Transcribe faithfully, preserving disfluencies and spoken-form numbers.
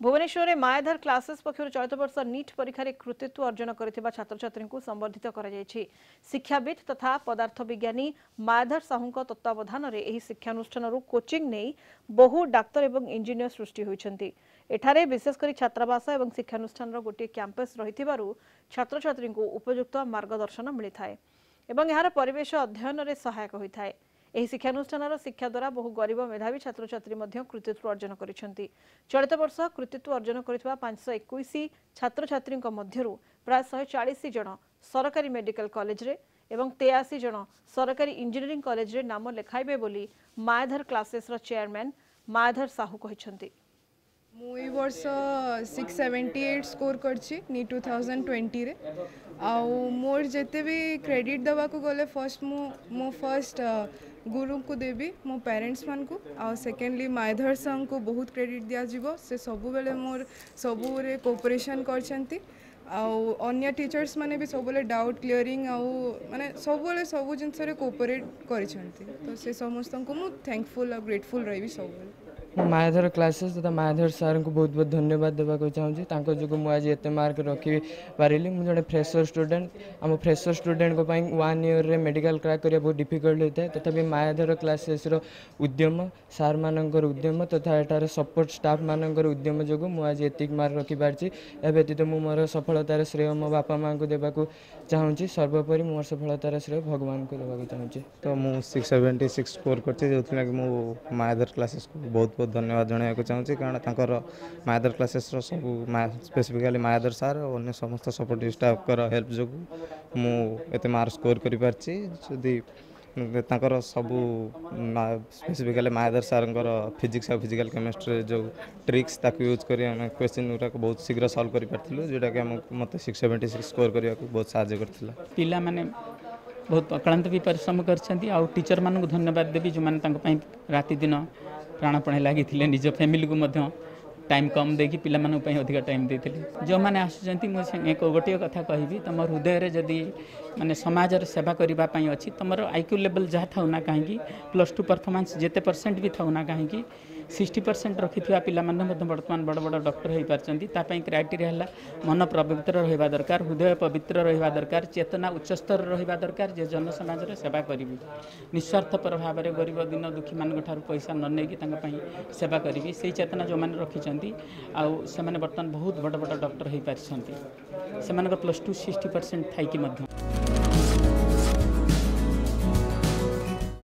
ଭୁବନେଶ୍ୱରରେ ମାୟାଧର କ୍ଲାସେସ୍ ପକ୍ଷରୁ ଚଳିତ ବର୍ଷ ନିଟ୍ ପରୀକ୍ଷାରେ କୃତିତ୍ୱ ଅର୍ଜନ କରିଥିବା ଛାତ୍ରଛାତ୍ରୀଙ୍କୁ ସମ୍ବର୍ଦ୍ଧିତ କରାଯାଇଛି। ଶିକ୍ଷାବିତ୍ ତଥା ପଦାର୍ଥ ବିଜ୍ଞାନୀ ମାୟାଧର ସାହୁଙ୍କ ତତ୍ତ୍ୱାବଧାନରେ ଏହି ଶିକ୍ଷାନୁଷ୍ଠାନରୁ କୋଚିଂ ନେଇ ବହୁ ଡାକ୍ତର ଏବଂ ଇଞ୍ଜିନିୟର ସୃଷ୍ଟି ହୋଇଛନ୍ତି। ଏଠାରେ ବିଶେଷ କରି ଛାତ୍ରାବାସ ଏବଂ ଶିକ୍ଷାନୁଷ୍ଠାନର ଗୋଟିଏ କ୍ୟାମ୍ପସ୍ ରହିଥିବାରୁ ଛାତ୍ରଛାତ୍ରୀଙ୍କୁ ଉପଯୁକ୍ତ ମାର୍ଗଦର୍ଶନ ମିଳିଥାଏ ଏବଂ ଏହାର ପରିବେଶ ଅଧ୍ୟୟନରେ ସହାୟକ ହୋଇଥାଏ। ଏହି ଶିକ୍ଷାନୁଷ୍ଠାନର ଶିକ୍ଷା ଦ୍ୱାରା ବହୁ ଗରିବ ମେଧାବୀ ଛାତ୍ରଛାତ୍ରୀ ମଧ୍ୟ କୃତିତ୍ୱ ଅର୍ଜନ କରିଛନ୍ତି। ଚଳିତ ବର୍ଷ କୃତିତ୍ୱ ଅର୍ଜନ କରିଥିବା ପାଞ୍ଚଶହ ଏକୋଇଶ ଛାତ୍ରଛାତ୍ରୀଙ୍କ ମଧ୍ୟରୁ ପ୍ରାୟ ଶହେ ଚାଳିଶ ଜଣ ସରକାରୀ ମେଡିକାଲ କଲେଜରେ ଏବଂ ତେୟାଅଶୀ ଜଣ ସରକାରୀ ଇଞ୍ଜିନିୟରିଂ କଲେଜରେ ନାମ ଲେଖାଇବେ ବୋଲି ମାୟାଧର କ୍ଲାସେସ୍ର ଚେୟାରମ୍ୟାନ୍ ମାୟାଧର ସାହୁ କହିଛନ୍ତି। ମୁଁ ଏଇ ବର୍ଷ ସିକ୍ସ ସେଭେଣ୍ଟି ଏଇଟ୍ ସ୍କୋର୍ କରିଛି ନିଟ୍ ଟୁ ଥାଉଜେଣ୍ଡ ଟ୍ୱେଣ୍ଟିରେ। ଆଉ ମୋର ଯେତେ ବି କ୍ରେଡ଼ିଟ୍ ଦେବାକୁ ଗଲେ, ଫର୍ଷ୍ଟ ମୁଁ ମୋ ଫର୍ଷ୍ଟ ଗୁରୁଙ୍କୁ ଦେବି, ମୋ ପ୍ୟାରେଣ୍ଟସ୍ମାନଙ୍କୁ, ଆଉ ସେକେଣ୍ଡଲି ମାୟାଧର ସାର୍ଙ୍କୁ ବହୁତ କ୍ରେଡ଼ିଟ୍ ଦିଆଯିବ। ସେ ସବୁବେଳେ ମୋର ସବୁରେ କୋଅପରେସନ୍ କରିଛନ୍ତି, ଆଉ ଅନ୍ୟ ଟିଚର୍ସ ମାନେ ବି ସବୁବେଳେ ଡାଉଟ୍ କ୍ଲିୟରିଂ ଆଉ ମାନେ ସବୁବେଳେ ସବୁ ଜିନିଷରେ କୋଅପରେଟ୍ କରିଛନ୍ତି। ତ ସେ ସମସ୍ତଙ୍କୁ ମୁଁ ଥ୍ୟାଙ୍କଫୁଲ୍ ଆଉ ଗ୍ରେଟଫୁଲ୍ ରହିବି ସବୁବେଳେ। ମୁଁ ମାୟାଧର କ୍ଲାସେସ୍ ତଥା ମାୟାଧର ସାର୍ଙ୍କୁ ବହୁତ ବହୁତ ଧନ୍ୟବାଦ ଦେବାକୁ ଚାହୁଁଛି। ତାଙ୍କ ଯୋଗୁଁ ମୁଁ ଆଜି ଏତେ ମାର୍କ ରଖିପାରିଲି। ମୁଁ ଜଣେ ଫ୍ରେସର୍ ଷ୍ଟୁଡ଼େଣ୍ଟ। ଆମ ଫ୍ରେସର୍ ଷ୍ଟୁଡ଼େଣ୍ଟଙ୍କ ପାଇଁ ୱାନ୍ ଇୟର୍ରେ ମେଡ଼ିକାଲ କ୍ରାକ୍ କରିବା ବହୁତ ଡିଫିକଲ୍ଟ ହୋଇଥାଏ। ତଥାପି ମାୟାଧର କ୍ଲାସେସ୍ର ଉଦ୍ୟମ, ସାର୍ମାନଙ୍କର ଉଦ୍ୟମ ତଥା ଏଠାରେ ସପୋର୍ଟ ଷ୍ଟାଫ୍ମାନଙ୍କର ଉଦ୍ୟମ ଯୋଗୁଁ ମୁଁ ଆଜି ଏତିକି ମାର୍କ ରଖିପାରିଛି। ଏହା ବ୍ୟତୀତ ମୁଁ ମୋର ସଫଳତାର ଶ୍ରେୟ ମୋ ବାପା ମାଆଙ୍କୁ ଦେବାକୁ ଚାହୁଁଛି। ସର୍ବୋପରି ମୁଁ ମୋର ସଫଳତାର ଶ୍ରେୟ ଭଗବାନଙ୍କୁ ଦେବାକୁ ଚାହୁଁଛି। ତ ମୁଁ ସିକ୍ସ ସେଭେଣ୍ଟି ସିକ୍ସ ସ୍କୋର୍ କରିଛି, ଯେଉଁଥିଲାଗି ମୁଁ ମାୟାଧର କ୍ଲାସେସ୍କୁ ବହୁତ ବହୁତ ଧନ୍ୟବାଦ ଜଣାଇବାକୁ ଚାହୁଁଛି, କାରଣ ତାଙ୍କର ମାୟାଧର କ୍ଲାସେସ୍ର ସବୁ, ସ୍ପେସିଫିକାଲି ମାୟାଧର ସାର୍ ଓ ଅନ୍ୟ ସମସ୍ତ ସପୋର୍ଟିଭ୍ ଷ୍ଟାଫ୍ଙ୍କର ହେଲ୍ପ ଯୋଗୁଁ ମୁଁ ଏତେ ମାର୍କ ସ୍କୋର୍ କରିପାରିଛି। ଯଦି ତାଙ୍କର ସବୁ, ସ୍ପେସିଫିକାଲି ମାୟାଧର ସାର୍ଙ୍କର ଫିଜିକ୍ସ ଆଉ ଫିଜିକାଲ୍ କେମିଷ୍ଟ୍ରିରେ ଯେଉଁ ଟ୍ରିକ୍ସ, ତାକୁ ୟୁଜ୍ କରି ଆମେ କ୍ୱେଶ୍ଚିନ୍ ଗୁଡ଼ାକ ବହୁତ ଶୀଘ୍ର ସଲ୍ଭ କରିପାରିଥିଲୁ, ଯେଉଁଟାକି ଆମକୁ ମୋତେ ସିକ୍ସ ସେଭେଣ୍ଟି ସିକ୍ସ ସ୍କୋର୍ କରିବାକୁ ବହୁତ ସାହାଯ୍ୟ କରିଥିଲା। ପିଲାମାନେ ବହୁତ ଅକ୍ଳାନ୍ତ ବି ପରିଶ୍ରମ କରିଛନ୍ତି, ଆଉ ଟିଚରମାନଙ୍କୁ ଧନ୍ୟବାଦ ଦେବି ଯେଉଁମାନେ ତାଙ୍କ ପାଇଁ ରାତି ଦିନ ପ୍ରାଣପଣେ ଲାଗିଥିଲେ, ନିଜ ଫ୍ୟାମିଲିକୁ ମଧ୍ୟ ଟାଇମ୍ କମ୍ ଦେଇକି ପିଲାମାନଙ୍କ ପାଇଁ ଅଧିକା ଟାଇମ୍ ଦେଇଥିଲେ। ଯେଉଁମାନେ ଆସୁଛନ୍ତି, ମୁଁ ଏକ ଗୋଟିଏ କଥା କହିବି, ତୁମ ହୃଦୟରେ ଯଦି ମାନେ ସମାଜର ସେବା କରିବା ପାଇଁ ଅଛି, ତୁମର I Q ଲେବଲ୍ ଯାହା ଥାଉ ନା କାହିଁକି, ପ୍ଲସ୍ ଟୁ ପରଫର୍ମାନ୍ସ ଯେତେ ପରସେଣ୍ଟ ବି ଥାଉ ନା କାହିଁକି, ସିକ୍ସଟି ପରସେଣ୍ଟ ରଖିଥିବା ପିଲାମାନେ ମଧ୍ୟ ବର୍ତ୍ତମାନ ବଡ଼ ବଡ଼ ଡକ୍ଟର ହୋଇପାରିଛନ୍ତି। ତା ପାଇଁ କ୍ରାଇଟେରିଆ ହେଲା ମନ ପବିତ୍ର ରହିବା ଦରକାର, ହୃଦୟ ପବିତ୍ର ରହିବା ଦରକାର, ଚେତନା ଉଚ୍ଚସ୍ତର ରହିବା ଦରକାର ଯେ ଜନସମାଜର ସେବା କରିବି, ନିସ୍ୱାର୍ଥପର ଭାବରେ ଗରିବ ଦିନ ଦୁଃଖୀମାନଙ୍କ ଠାରୁ ପଇସା ନ ନେଇକି ତାଙ୍କ ପାଇଁ ସେବା କରିବି। ସେଇ ଚେତନା ଯେଉଁମାନେ ରଖିଛନ୍ତି, ଆଉ ସେମାନେ ବର୍ତ୍ତମାନ ବହୁତ ବଡ଼ ବଡ଼ ଡକ୍ଟର ହୋଇପାରିଛନ୍ତି, ସେମାନଙ୍କର ପ୍ଲସ୍ ଟୁ ସିକ୍ସଟି ପରସେଣ୍ଟ ଥାଇକି ମଧ୍ୟ।